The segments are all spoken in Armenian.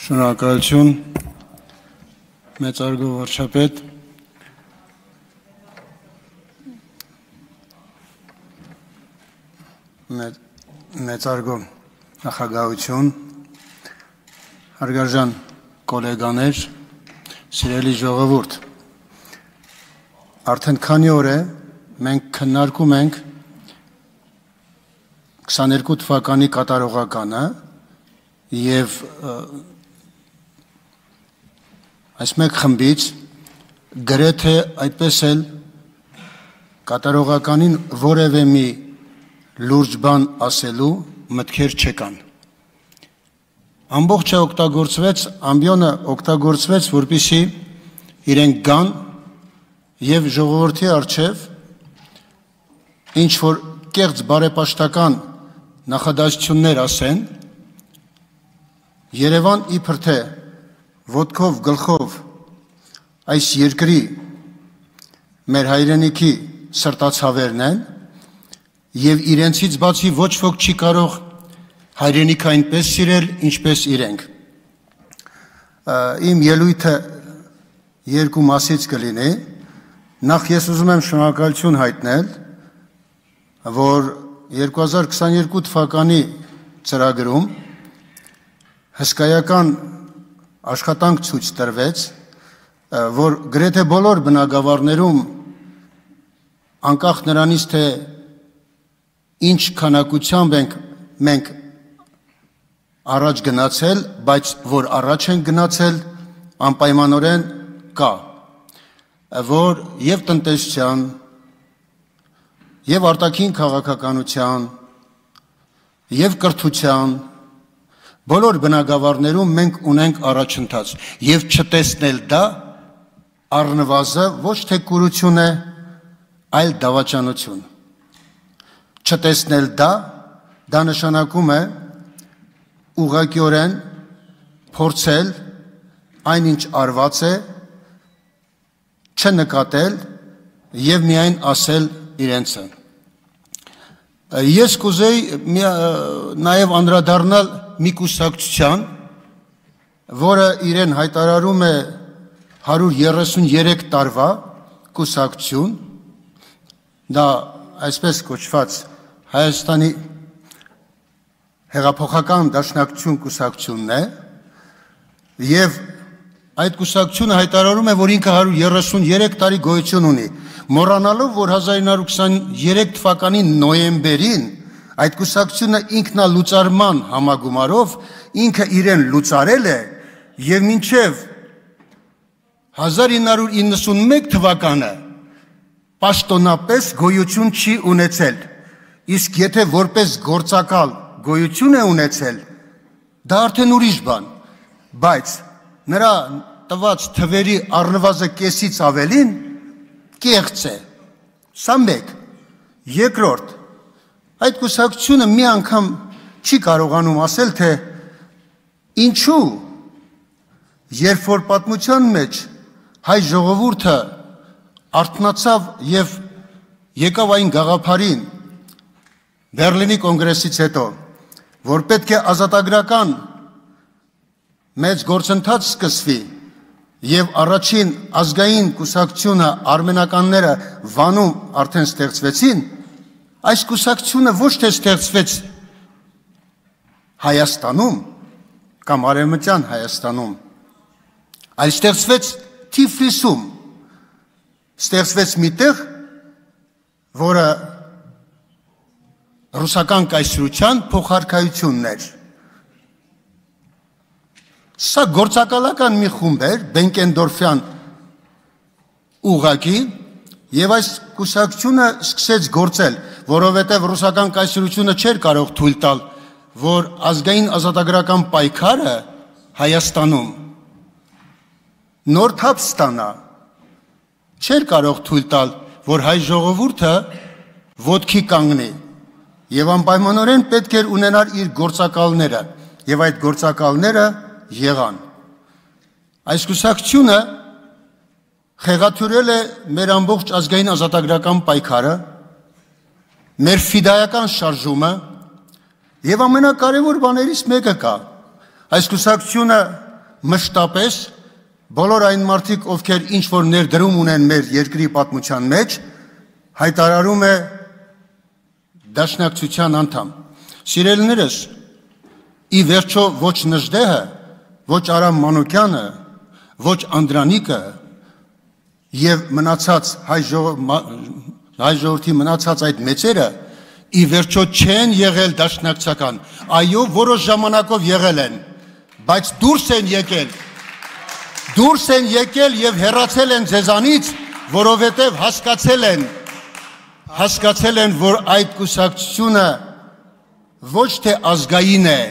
Շնորհակալություն մեծարգո վարչապետ մեծարգո նախագահություն հարգարժան գոլեգաներ սիրելի ժողովուրդ արդեն քանի օր է մենք քննարկում ենք 22 թվականի կատարողականը եւ այս մեկ խմբից գրեթե այդպես էլ կատարողականին որևէ մի լուրջ բան ասելու մտքեր չկան ամբողջը օգտագործվեց ամբիոնը օգտագործվեց որպեսզի իրենք գան եւ ժողովրդի արչեւ ինչ որ կեղծ բարեպաշտական նախադասություններ ասեն Երևան իբր թե ոտքով գլխով այս երկրի մեր հայրենիքի սրտացավերն են եւ իրենցից բացի ոչ ոք չի կարող հայրենիքը այնպես սիրել ինչպես իրենք իմ ելույթը երկու մասից կլինի նախ ես ուզում եմ շնորհակալություն հայտնել որ 2022 թվականի ծրագրում հսկայական աշխատանք ցույց տրվեց, որ գրեթե բոլոր բնակավարներում անկախ նրանից թե ինչ քանակությամբ մենք առաջ գնացել, բայց որ առաջ են գնացել անպայմանորեն կա, որ եւ տնտեսության եւ արտաքին քաղաքականության եւ կրթության Բոլոր բնակավարներում մենք ունենք առաջընթաց եւ չտեսնել դա առնվազը ոչ թե կուրություն է, այլ դավաճանություն։ Չտեսնել դա նշանակում է ուղղակիորեն փորձել այնինչ արված է չնկատել եւ միայն ասել իրենցը։ Ես կուզեի նաեւ անդրադառնալ մի կուսակցության, որը իրեն հայտարարում է 133 տարվա կուսակցություն, դա այսպես կոչված Հայաստանի հեղափոխական դաշնակցություն կուսակցությունն է, եւ այդ կուսակցությունը հայտարարում է, որ ինքը 133 տարի գոյություն ունի, մոռանալով, որ 1923 թվականի նոյեմբերին Այդ կուսակցությունը ինքնալուծարման համագումարով ինքը իրեն լուծարել է եւ մինչեւ 1991 թվականը պաշտոնապես գոյություն չի ունեցել իսկ եթե որպես գործակալ գոյություն է ունեցել դա արդեն ուրիշ բան բայց նրա տված թվերի առնվազն կեսից ավելին կեղծ է սա մեկ երկրորդ Այդ կուսակցությունը մի անգամ չի կարողանում ասել, թե ինչու երբ որ պատմության մեջ հայ ժողովուրդը արթնացավ եւ եկավ այն գաղափարին Բերլինի կոնգրեսից հետո, որ պետք է ազատագրական մեծ գործընթաց սկսվի եւ առաջին ազգային կուսակցությունը արմենականները Վանում արդեն ստեղծվեցին Այս կուսակցությունը ոչ թե ստեղծվեց Հայաստանում կամ Արևմտյան Հայաստանում, այլ ստեղծվեց Թիֆլիսում, ստեղծվեց մի տեղ, որը ռուսական կայսրության փոխարքայությունն էր։ Սա գործակալական մի խումբ էր, Բենկենդորֆյան ուղղակի, Եվ այս կուսակցությունը սկսեց գործել, որովհետև ռուսական կայսրությունը չէր կարող թույլ տալ, որ ազգային ազատագրական պայքարը Հայաստանում նոր թափ ստանա, չէր կարող թույլ տալ, որ հայ ժողովուրդը ոտքի կանգնի, եւ անպայմանորեն պետք էր ունենալ իր գործակալները, եւ այդ գործակալները եղան։ Այս կուսակցությունը Խեղաթյուրել է մեր ամբողջ ազգային ազատագրական պայքարը, մեր ֆիդայական շարժումը եւ ամենակարևոր բաներից մեկը կա։ Այս կուսակցությունը մշտապես բոլոր այն մարդիկ, ովքեր ինչ որ ներդրում ունեն մեր երկրի պատմության մեջ, հայտարարում է դաշնակցության անդամ։ Սիրելիներս, ի վերջո ոչ Նժդեհը, ոչ Արամ Մանուկյանը, ոչ Անդրանիկը եւ մնացած հայ ժողովրդի մնացած այդ մեծերը ի վերջո չեն եղել դաշնակցական, այո, որոշ ժամանակով եղել են, բայց դուրս են եկել եւ հեռացել են ձեզանից, որովհետեւ հասկացել են, որ այդ կուսակցությունը ոչ թե ազգային է,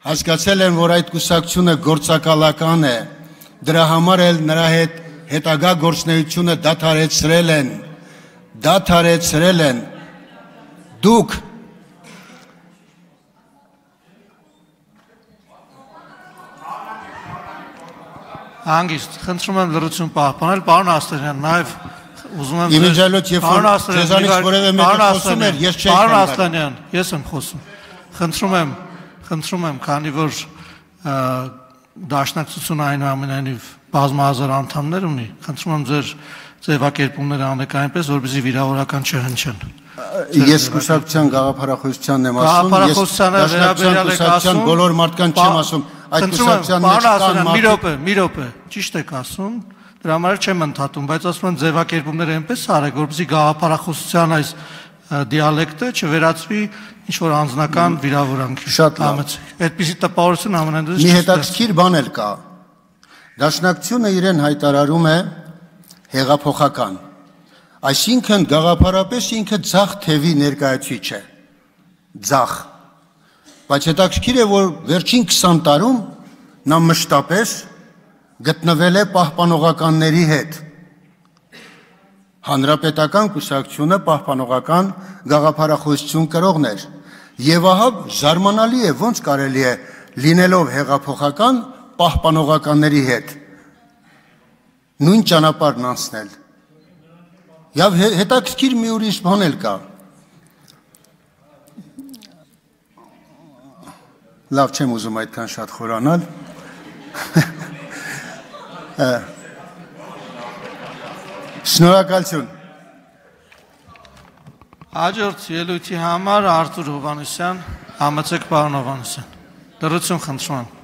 հասկացել են, որ այդ կուսակցությունը գործակալական է, դրա համար էլ նրա հետ հետագա գործունեությունը դադարեցրել են, դուք Հանգիստ, խնդրում եմ լրություն պահպանել, պարոն Ասլանյան, նաև ուզում եմ Իմիջիալոց երբ որ ձեզանից որևէ մեկը խոսում էր, ես չէի Պարոն Ասլանյան, ես եմ խոսում։ Խնդրում եմ, քանի որ դաշնակցությունը այնուամենայնիվ բազմահազար անդամներ ունի, խնդրում եմ ձեր ձևակերպումները անեք այնպես, որպեսզի վիրավորական չհնչեն։ Ես կուսակցության գաղափարախոսությանն եմ ասում, ես դաշնակցության բոլոր մարդկանց չեմ ասում, այդ կուսակցության մեջ կան մարդիկ։ Մի րոպե, ճիշտ եք ասում, դրա համար չեմ ընդհատում, բայց ասում եմ ձևակերպումները այնպես արեք, որպեսզի գաղափարախոսության այս դիալեկտը չվերածվի ինչ-որ անձնական վիրավորանքի։ Շատ լավ։ Այդպիսի տպավորություն ամենայնիվ մի հետաքրքիր բան էլ կա։ Դաշնակցությունը իրեն հայտարարում է հեղափոխական, այսինքն գաղափարապես ինքը ձախ թևի ներկայացուցիչ է, ձախ, բայց հետաքրքիր է, որ վերջին 20 տարում նա մշտապես գտնվել է պահպանողականների հետ, հանրապետական կուսակցությունը պահպանողական գաղափարախոսություն կրողներ, եւ ահա զարմանալի է, ոնց կարելի է լինելով հեղափոխական պահպանողականների հետ նույն ճանապարհն անցնել։ Եվ հետաքրքիր մի ուրիշ բան էլ կա։ Լավ չեմ ուզում այդքան շատ խորանալ։ Շնորհակալություն։ Հաջորդ ելույթի համար Արթուր Հովհաննիսյան, համեցեք պարոն Հովհաննիսյան։ Դրություն խնդրում եմ։